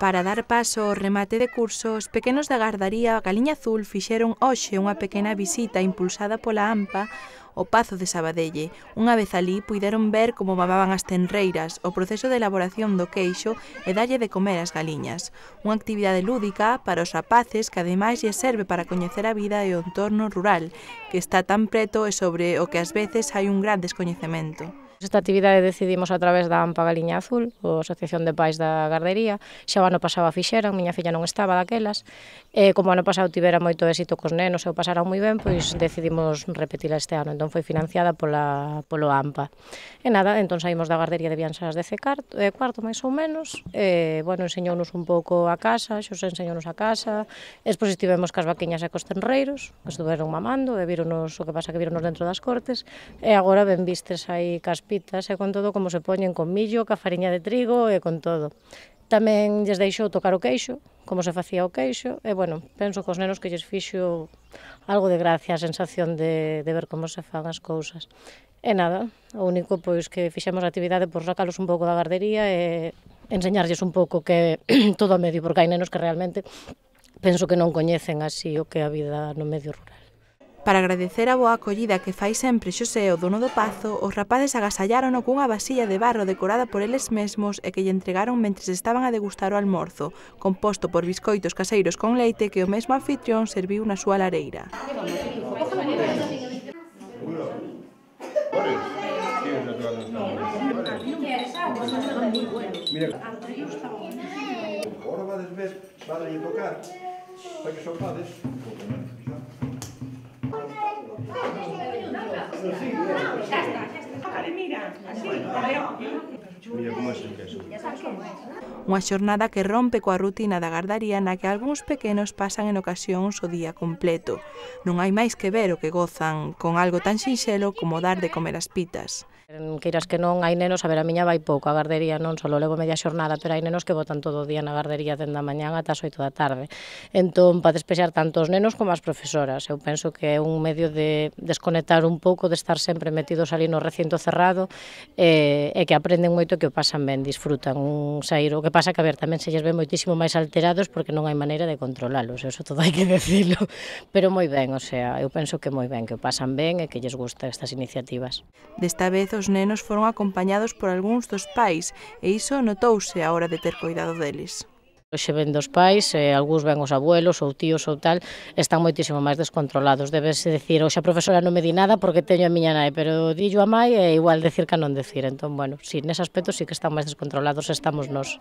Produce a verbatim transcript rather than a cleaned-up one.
Para dar paso ao remate de curso, os pequenos da gardaría Galiña Azul fixeron hoxe unha pequena visita impulsada pola AMPA ao Pazo de Sabadelle. Unha vez alí, puideron ver como mamaban as tenreiras, o proceso de elaboración do queixo e dalle de comer ás galiñas. Unha actividade lúdica para os rapaces que ademais lles serve para coñecer a vida e o entorno rural, que está tan preto e sobre o que ás veces hai un gran descoñecemento. Esta actividade decidimos a través da AMPA Galiña Azul, a Asociación de Pais da Gardería. Xa o ano pasado a fixeran, miña filla non estaba daquelas, e como o ano pasado tivera moito éxito cos nenos e o pasaran moi ben, pois decidimos repetila este ano, entón foi financiada pola, polo AMPA. E nada, entón saímos da gardería de Biansas de Cuarto, cuarto máis ou menos, e, bueno, enseñounos un pouco a casa, xos enseñounos a casa, e despois estivemos cas vaquiñas e cos tenreiros, que estuveron mamando, e víronos o que pasa que víronos dentro das cortes, e agora ben vistes aí cas pitas e con todo como se poñen con millo, ca fariña de trigo e con todo. Tamén lles deixou tocar o queixo, como se facía o queixo, e, bueno, penso que os nenos que lles fixo algo de gracia, a sensación de, de ver como se fan as cousas. E nada, o único pois que fixemos a actividade por sacalos un pouco da gardería e enseñarlles un pouco que todo o medio, porque hai nenos que realmente penso que non coñecen así o que é a vida no medio rural. Para agradecer a boa acollida que fai sempre Xosé, o dono do pazo, os rapaces agasallárono cunha vasilla de barro decorada por eles mesmos e que lle entregaron mentres estaban a degustar o almorzo, composto por biscoitos caseiros con leite que o mesmo anfitrión serviu na súa lareira. Agora vades ver, vades tocar, para que sopades. Unha xornada que rompe coa rutina da gardaría na que algúns pequenos pasan en ocasións o día completo. Non hai máis que ver o que gozan con algo tan sinxelo como dar de comer as pitas. Queiras que non, hai nenos, a ver, a miña vai pouco a gardería, non só levo media xornada, pero hai nenos que botan todo o día na gardería dende a mañán ata as oito da tarde. Entón, para despexar tanto os nenos como as profesoras, eu penso que é un medio de desconectar un pouco, de estar sempre metidos ali no recinto cerrado, e, e que aprenden moito, que o pasan ben, disfrutan un saír. O que pasa que, a ver, tamén se lles ve moitísimo máis alterados porque non hai maneira de controlalos, eso todo hai que decirlo, pero moi ben, o sea, eu penso que moi ben, que o pasan ben e que lles gusta estas iniciativas. Desta vez os nenos foron acompañados por algúns dos pais e iso notouse á hora de ter coidado deles. Hoxe ven dos pais, e algúns ven os abuelos ou tíos ou tal, están moitísimo máis descontrolados. Debese decir, hoxe a profesora non me di nada porque teño a miña nai, pero dillo a mai é igual decir que non decir. Entón, bueno, sí, nese aspecto sí que están máis descontrolados, estamos nós.